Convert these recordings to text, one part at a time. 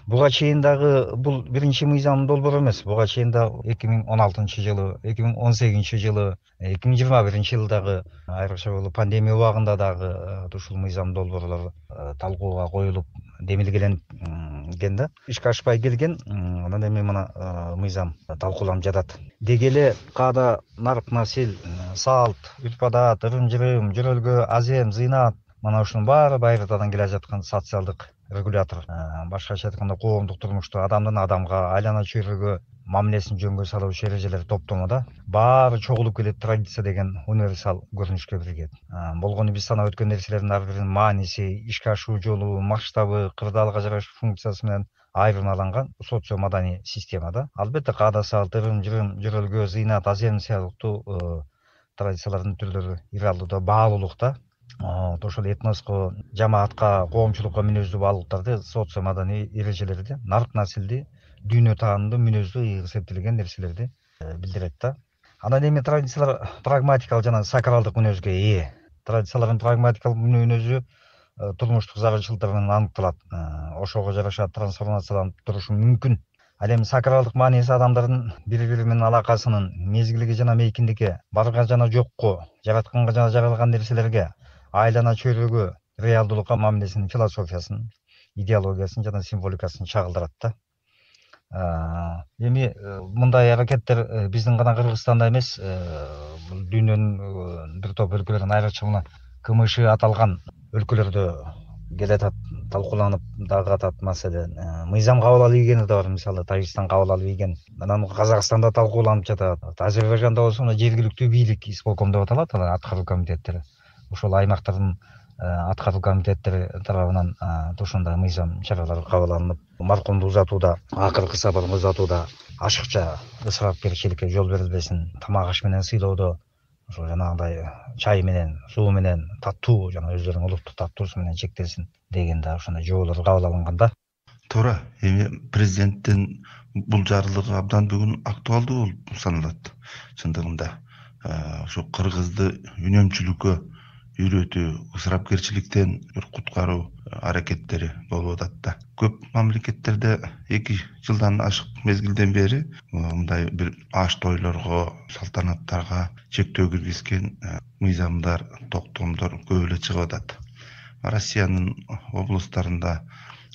Буга чейин дагы бул биринчи мыйзам долбоор эмес. Буга чейин да 2016-жылы, 2018-жылы, 2021-жылдагы айрыкча бул пандемия убагында дагы ушул мыйзам долбоорлор талкууга коюлуп демилгеленип экен да. Ишке ашпай келген. Анан эми мына мыйзам талкууланып жатат. Деги эле каада нарк насил, салт, үрп адат, ырым-жырым, жөрөлгө, азем, зыйнат мына ушунун баары байыртадан келе жаткан социалдык регулятор. Башкача айтканда коомдук турмушту адамдын адамга, айлана чөйрөгө мамилесин жөнгө салуучу эрежелер топтомуда баары чогулуп келет. Традиция деген универсал көрүнүшкө кирген. Болгону биз санап өткөн нерселердин ар биринин мааниси, ишке ашуу жолу, масштабы, кырдаалга жараша функциясы менен айырмаланган социо маданий системада. Албетте каада салт, ырым-жырым, жөрөлгө, зыйнат, азем сыяктуу традициялардын түрлөрү иралууда, баалуулукта. Ошол этноско, жамаатка, коомчулукка мүнөздүү баалуулуктарды, социо маданий эрежелерди, нарк насилди, дүйнө таанымдуу, мүнөздүү, ыйык эптелген нерселерди билдирет да. Анан эми традициялар прагматикалык жана сакралдык мүнөзгө ээ. Традициялардын прагматикалык мүнөзү турмуштук зарылчылыктар менен аныкталат. Ошого жараша трансформацияланып турушу мүмкүн. Ал эми сакралдык мааниси адамдардын бири-бири менен алакасынын мезгилге жана мейкиндикке, барга жана жокко, жаратканга жана жаралган нерселерге, айлана чөйрөгө, реалдуулукка мамилесинин философиясын, идеологиясын жана символикасын чагылдырат да. Эми мындай аракеттер биздин гана Кыргызстанда эмес, бул дүйнөнүн бир топ өлкөлөрүнүн, айрыкча мына КМШ аталган өлкөлөрдө келатат, талкууланып дагы атат. Маселен, мыйзам кабыл алып ийгени да бар. Мисалы, Тажикстан кабыл алып ийген. Анан Казакстанда талкууланып жатат. Азербайжанда болсо жергиликтүү бийлик, исполком деп аталат, алар аткаруу комитеттери. Ошол аймактардын аткаруу комитеттери тарабынан ушундай мыйзам чаралары кабыл алынып, маркомду узатууда, акыркы сапарын узатууда ашыкча ысырапкерчиликке жол берилбесин, тамак аш менен сыйлоодо ошо жанагындай чай менен, суу менен, таттуу, жана өздөрүнүн улуттук таттуусу менен чектелсин деген да ошондой жоболор кабыл алынган да. Туура. Эми президенттин бул жарлыгы абдан бүгүн актуалдуу болуп саналат. Чындыгында ошо кыргызды үнөмчүлүккө үйрөтүү, ысырапкерчиликтен бир куткаруу аракеттери болуп атат да. Көп мамлекеттерде 2 жылдан ашык мезгилден бери мындай бир аш тойлорго, салтанаттарга чектөө киргизген мыйзамдар, токтомдор көп эле чыгып атат. Россиянын облустарында,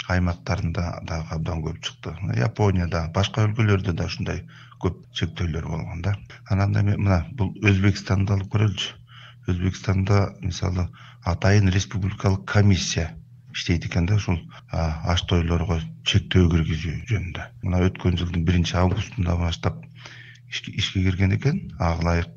аймактарында дагы абдан көп чыкты. Японияда, башка өлкөлөрдө да ушундай көп чектөөлөр болгон да. Анан эми мына бул Өзбекстанды алып көрөлүчү. Өзбекстанда мисалы атайын республикалык комиссия иштейт экен да, ушул аш тойлорго чектөө киргизүү жөнүндө. Мына өткөн жылдын 1-августунда баштап ишке кирген экен. Ага ылайык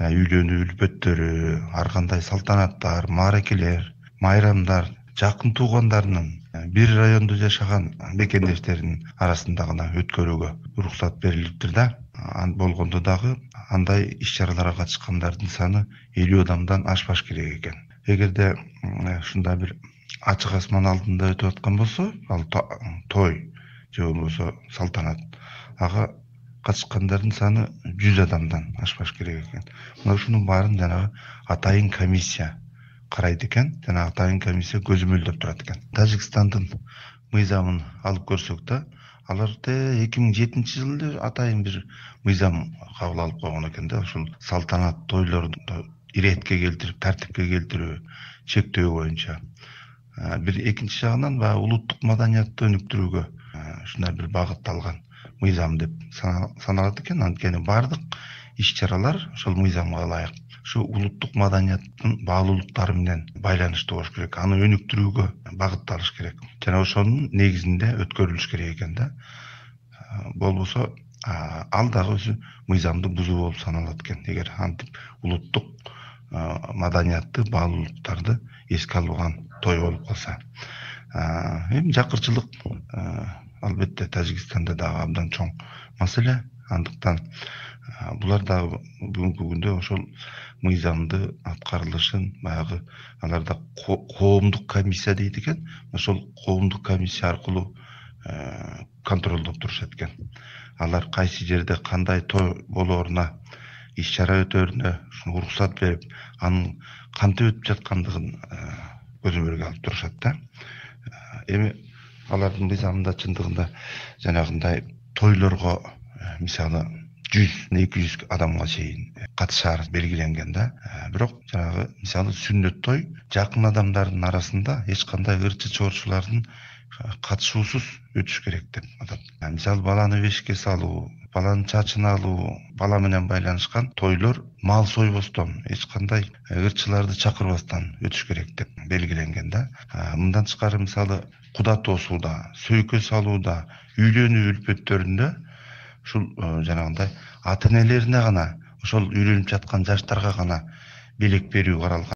үйлөнүү үлпөттөрү, ар кандай салтанаттар, мааракелер, майрамдар жакын туугандарынын, бир райондо жашаган мекендештеринин арасында гана өткөрүүгө уруксат берилиптир да. Болгондо дагы андай иш-чараларга катышкандардын саны 50 адамдан ашпаш керек экен. Эгерде ушундай бир ачык асман алдында өтүп аткан болсо, ал той же болбосо салтанат, ага катышкандардын саны 100 адамдан ашпаш керек экен. Мына ушунун баарын жанагы атайын комиссия карайт экен, жана атайын комиссия көзөмөлдөп турат экен. Тажикстандын мыйзамын алып көрсөк да, алар 2007-жылы атайын бир мыйзам кабыл алып койгон экен да. Ушул салтанат тойлорду иретке келтирип, тартипке келтирүү, чектөө боюнча. Бир экинчи жагынан баягы улуттук маданиятты өнүктүрүүгө ушундай бир багытталган мыйзам деп саналат экен. Анткени бардык иш-чаралар ошол мыйзамга ылайык ушу улуттук маданияттын баалуулуктары менен байланыштуу болуш керек. Аны өнүктүрүүгө багытталыш керек. Жана ошонун негизинде өткөрүлүш керек экен да. Болбосо ал дагы өзү мыйзамды бузуу болуп саналат экен. Эгер антип улуттук маданиятты, баалуулуктарды эске алган той болуп калса. Эми жакырчылык албетте Тажикстанда дагы абдан чоң маселе. Андыктан булар дагы бүгүнкү күндө ошол мыйзамды аткарылышын баягы аларда коомдук комиссия дейт экен. Ошол коомдук комиссия аркылуу контролдоп турушат экен. Алар кайсы жерде кандай той болооруна, иш-чара өтөөрүнө уруксат берип, анын кантип өтүп жаткандыгын көзөмөлгө алып турушат да. Эми алардын мыйзамында чындыгында жанагындай тойлорго мисалы 100-200 адамга чейин катышаар белгиленген да. Бирок жанагы мисалы сүннөт той жакын адамдардын арасында эч кандай ырчы чоорчулардын катышуусуз өтүш керек деп атат. Мисалы баланы бешикке салуу, баланын чачын алуу, бала менен байланышкан тойлор мал сойбостон, эч кандай ырчыларды чакырбастан өтүш керек деп белгиленген да. Мындан тышкары мисалы куда тосууда, сөйкө салууда, үйлөнүү үлпөттөрүндө ушул жанагындай ата энелерине гана, ошол үйлөнүп жаткан жаштарга гана белек берүү каралган.